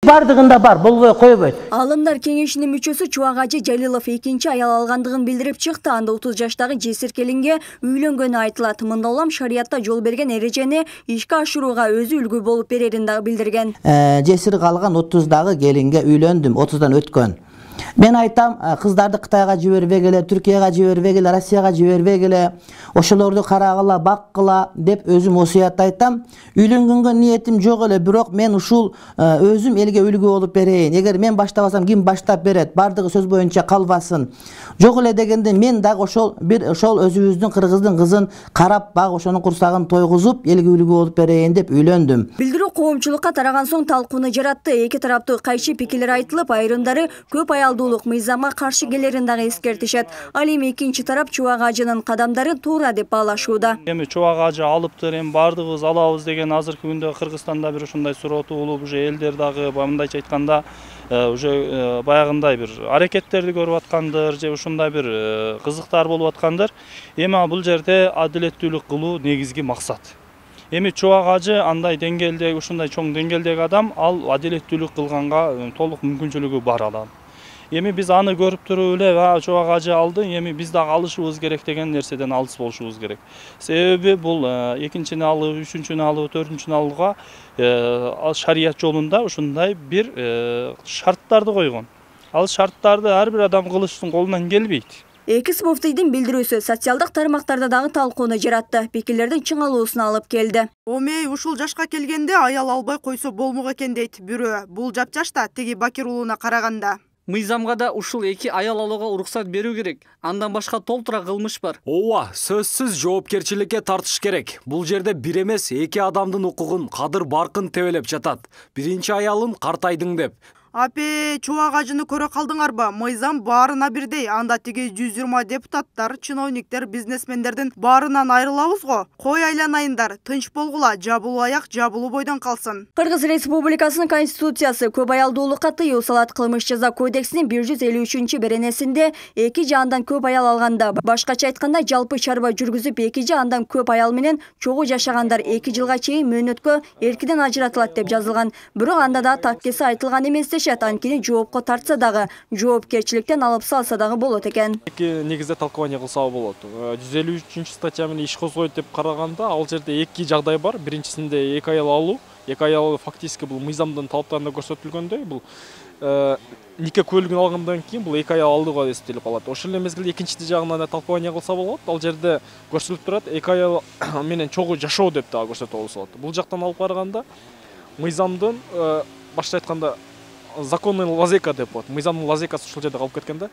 Бардыгында бар, болбой койбойт. Алымдар кеңешинин мүчөсү Чубак Ажы Жалилов экинчи аял алгандыгын билдирип чыкты. Анда 30 жаштагы жесир келинге үйлөнгөнү айтылат. Мында улам шариятта жол берген эрежени ишке ашырууга өзү үлгү болуп берерин дагы билдирген. Жесир калган 30-дагы келинге үйлөндүм, 30-дан өткөн. Мен айтам, кыздарды Кытайга жибербегиле, Түркияга жибербегиле, Россияга жибербегиле, ошолорду карагыла, баккыла деп өзүм осуят айтам. Үйлөнгөнгө ниетим жок эле, бирок мен ушул өзүм элге үлгү болуп берейин. Эгер мен баштабасам, ким баштап берет? Бардыгы сөз боюнча калбасын. Жок эле дегенде мен дагы ошол өзүбүздүн кыргыздын кызын карап, баг ошонун курсагын тойгузуп, элге үлгү болуп берейин деп үйлөндүм. Билдирүү коомчулукка тараган соң талкууну жаратты. Эки тараптуу кайшы пикирлер айтылып, айрымдары көп аялдуулук мыйзамга каршы келерин дагы эскертишет. Ал эми экинчи тарап Чубак Ажынын кадамдары туура деп баалашууда. Эми Чубак Ажы алыптыр, эми бардыгыбыз алабыз деген азыркы күндө Кыргызстанда бир ушундай суроо туулуп, уже элдер дагы мындайча айтканда уже баягындай бир аракеттерди көрүп аткандыр, же ушундай бир кызыктар болуп аткандыр. Эми бул жерде адилеттүүлүк кылуу негизги максат. Эми Чубак Ажы андай деңгээлдеги, ушундай чоң деңгээлдеги адам, ал адилеттүүлүк кылганга толук мүмкүнчүлүгү бар адам. Эми биз аны көрүп туруп эле Чубак Ажы алды, эми биз дагы алышыбыз керек деген нерседен алыс болушубуз керек. Себеби бул экинчини алуу, үчүнчүнү алуу, төртүнчүнү алууга шарият жолунда ушундай бир шарттарды койгон. Ал шарттарды ар бир адам кылыштын колунан келбейт. Экис муфтийдин билдирүүсү социалдык тармактарда дагы талкууну жаратты. Пикирлердин чыңалуусуна алып келди. Омей ушул жашка келгенде аял албай койсо болмок экен дейт бирөө. Бул жапжашта тиги Бакир уулуна караганда. Мыйзамга да ушул эки аял алууга уруксат берүү керек. Андан башка толтура кылмыш бар. Ооба, сөзсүз жоопкерчиликке тартыш керек. Бул жерде бир эмес эки адамдын укугун, кадыр баркын тебелеп жатат. Биринчи аялым картайдың деп. Апе, Чубак Ажыны көрө калдыңарбы? Мыйзам баарына бирдей. Анда тиги 120 депутаттар, чиновниктер, бизнесмендердин баарынан айрылабыз го. Кой айланайындар, тынч болгула, жабылуу аяк жабылуу бойдон калсын. Кыргыз Республикасынын конституциясы көп аялдуулукка тыюу салат. Кылмыш жаза кодексинин 153 беренесинде эки же андан көп аял алганда, башкача айтканда жалпы чарба жүргүзүп эки же андан көп аял менен чогуу жашагандар 2 жылга чейин мөөнөткө эркинен ажыратылат деп жазылган. Бирок анда да таккеси айтылган эмес. Анткени жоопко тартса дагы, жоопкерчиликтен алып салса дагы болот экен. Эки негизде талкуулоо кылса болот. 153 статья менен иш козгойт деп караганда, ал жерде эки жагдай бар. Биринчисинде эки аял алуу. Эки аял фактически бул мыйзамдын талаптарында көрсөтүлгөндөй, бул нике куәлигин алгандан кийин бул эки аял алдыга эсептелип калат. Ошол эле мезгилде экинчи жагынан да талкуулоо кылса болот. Ал жерде көрсөтүлүп турат, эки аял менен чогуу жашоо деп дагы көрсөтүп алса болот. Бул жактан алып караганда мыйзамдын башка айтканда законный лазейка деп коет. Мыйзамдын лазейкасы ушул жерде калып кеткен да.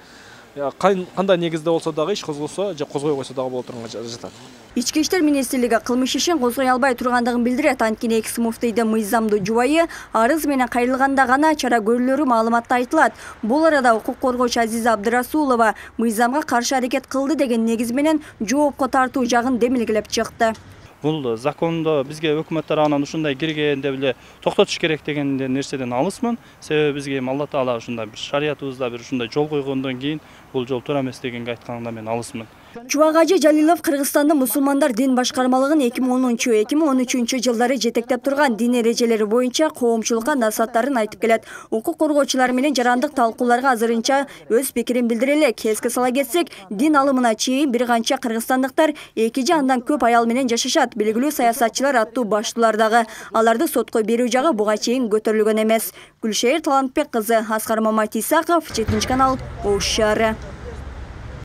Кандай негизде болсо дагы иш козголсо же козгой койсо дагы боло турганга жатат. Ички иштер министрлиги кылмыш ишин козгой албай тургандыгын билдирет. Анткени экс муфтийдин мыйзамдуу жубайы арыз менен кайрылганда гана чара көрүлөрү маалыматта айтылат. Бул арада укук коргоочу Азиза Абдырасулова мыйзамга каршы аракет кылды деген негиз менен жоопко тартуу жагын демилгелеп чыкты. Бул закондо бизге өкмөт тарабынан ушундай кирген деп эле токтотуш керек деген нерседен алысмын. Себеби бизге Алла Таала ушундай бир шариятыбызда бир ушундай жол койгондон кийин бул жол туура эмес дегенге айтканда мен алысмын. Чубак Ажы Жалилов Кыргызстандын мусулмандар дин башкармалыгын 2010-2013 жылдары жетектеп турган дин эрежелери боюнча коомчулукка насааттарын айтып келет. Укук коргоочулар менен жарандык талкууларга азырынча өз пикирин билдире элек. Эске сала кетсек, дин алымына чейин бир канча кыргызстандыктар эки же андан көп аял менен жашашат. Белгилүү саясатчылар аттуу баштуулар дагы. Аларды сотко берүү жагы буга чейин көтөрүлгөн эмес. Гүлшер Талантбек кызы, Аскар Маматисаков, 7 канал, Ош шаары.